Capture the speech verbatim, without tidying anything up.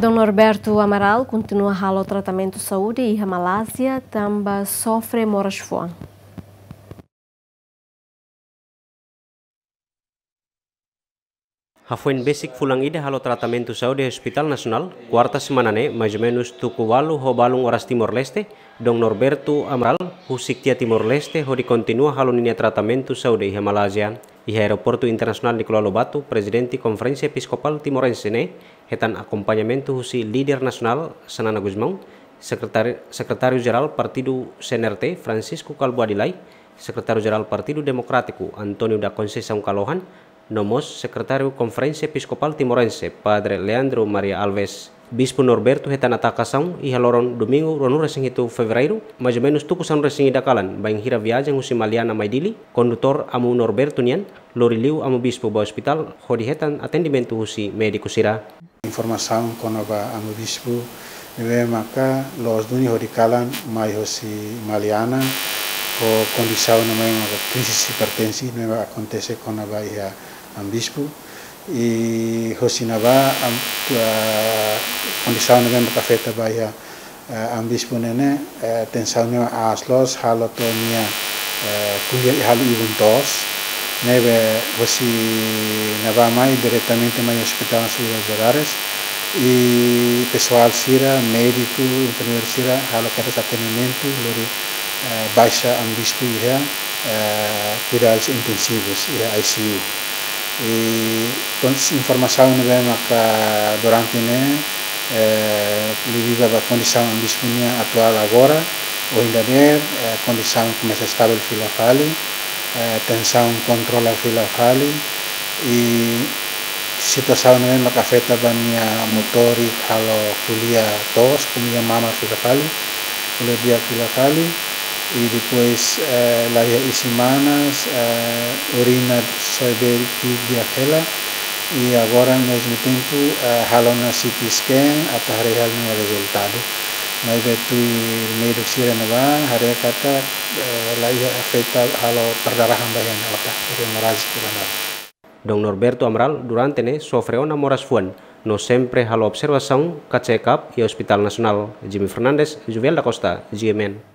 Dom Norberto Amaral kontinua halo tratamentu saúde iha Malázia tanba sofre moras fuan. Hafoin besik fulan ida halo tratamentu saúde iha Hospital Nasionál, kuarta semana ne'e, mais ou menus tuku ualu ho balun oras Timor-Leste, Dom Norberto Amaral husik tiha Timor-Leste hodi kontinua halo ninia tratamentu saúde iha Malázia. Iha Aeroportu Internasionál Nicolau Lobato, Prezidente Konferénsia Episkopál Timorense ne'e hetan akompañamentu husi líder nasionál Xanana Gusmão, Sekretari-, Sekretáriu Jerál Partidu C N R T, Francisco Kalbuadi Lay, Sekretáriu Jerál Partidu Demokrátiku, António da Conceição Kalohan, no mós Sekretáriu Konferénsia Episkopál Timorense, Padre Leandro Maria Alves. Bispu Norberto hetan atakasaun iha loron Domingu, ruanulu-resin-hitu Fevereiru, mais ou menus tuku sanulu-resin-ida kalan, bainhira viajen husi Maliana mai Dili, kondutór Amu Norberto nian, lori liu Amu Bispu ba ospitál, hodi hetan atendimentu husi médiku sira. Informasaun kona-ba Amu Bispu, ne'ebé maka loos duni hodi kalan mai hosi Maliana, ho kondisaun ne'ebé maka krize hipertensi, ne'ebé akontese kona-ba iha Amu Bispu. I hosi ne'ebá, am, ah, kondisaun ne'ebé maka afeta ba iha, eh, Amu Bispu ne'e ne'e, eh, tensaun ne'e aas loos, halo to'o nia, eh, ko'alia i halo ibun toos. Ne'ebé hosi ne'ebá mai diretamente mai Hospital Nacional de Valadares. I pesoál sira, médiku, enfermeiru sira, halo kedas atendimentu, lori, eh, baixa Amu Bispu iha, eh, kuidadus intensivus, iha I C U. I kon-, informasaun ne'ebé maka durante ne'e, eh, liuliu ba kondisaun Amu Bispu nia atuál agora, ohin dadeer, eh, kondisaun komesa estavel fila fali, eh, tensaun kontrola fila fali, i situasaun ne'ebé maka afeta ba nia motórik halo ko'alia toos, ko'alia mamar fila fali, ko'alia di'ak fila fali, i depois, eh, laiha isin-manas, eh, urina soe bee ki'ik di'ak hela, i agora mezmu tempu, eh, halo ona C T scan atu haree hela nia rezultadu. Maibé tuir médiku sira ne'ebá haree katak, eh, laiha afeta halo perdarahan ba iha nia otak, hemorragia pulmonar. Dom Norberto Amaral durante ne'e sofre ona moras fuan, no sempre halo observasaun ka check-up iha Hospital Nasionál. Jimmy Fernandes, Juvel da Costa, G M N.